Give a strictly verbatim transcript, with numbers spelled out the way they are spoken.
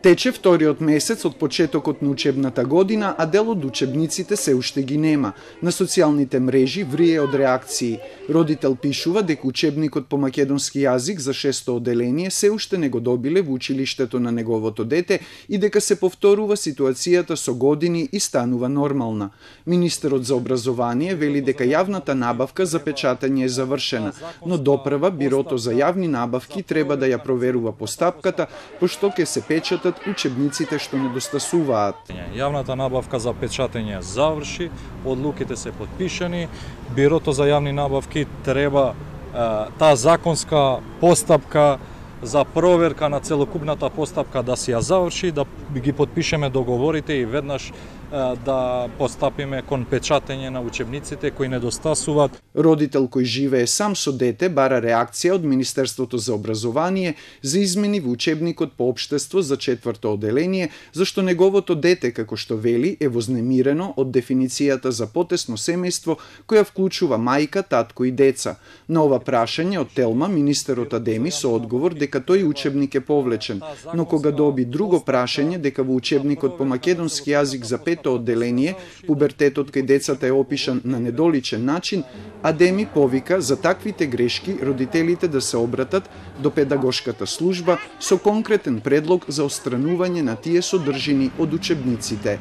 Тече вториот месец од почетокот на учебната година, а дел од учебниците се уште ги нема. На социјалните мрежи врие од реакции. Родител пишува дека учебникот по македонски јазик за шесто одделение се уште не го добиле во училиштето на неговото дете и дека се повторува ситуацијата со години и станува нормална. Министерот за образование вели дека јавната набавка за печатање е завршена, но допрва Бирото за јавни набавки треба да ја проверува постапката, пошто ќе се печатат учебниците што недостасуваат. Јавната набавка за печатење заврши, одлуките се подпишани, Бирото за јавни набавки треба таа законска постапка за проверка на целокупната постапка да си ја заврши, да ги подпишеме договорите и веднаш да постапиме кон печатење на учебниците кои недостасуваат. Родител кој живее сам со дете бара реакција од Министерството за образование за измени во учебникот по општество за четврто одделение, зашто неговото дете, како што вели, е вознемирено од дефиницијата за потесно семејство која вклучува мајка, татко и деца. На ова прашање од Телма министерот Адеми со одговор дека тој учебник е повлечен, но кога доби друго прашање дека во учебникот по македонски јазик за пето одделение пубертетот кај децата е опишан на недоличен начин, Адеми повика за таквите грешки родителите да се обратат до педагошката служба со конкретен предлог за отстранување на тие содржини од учебниците.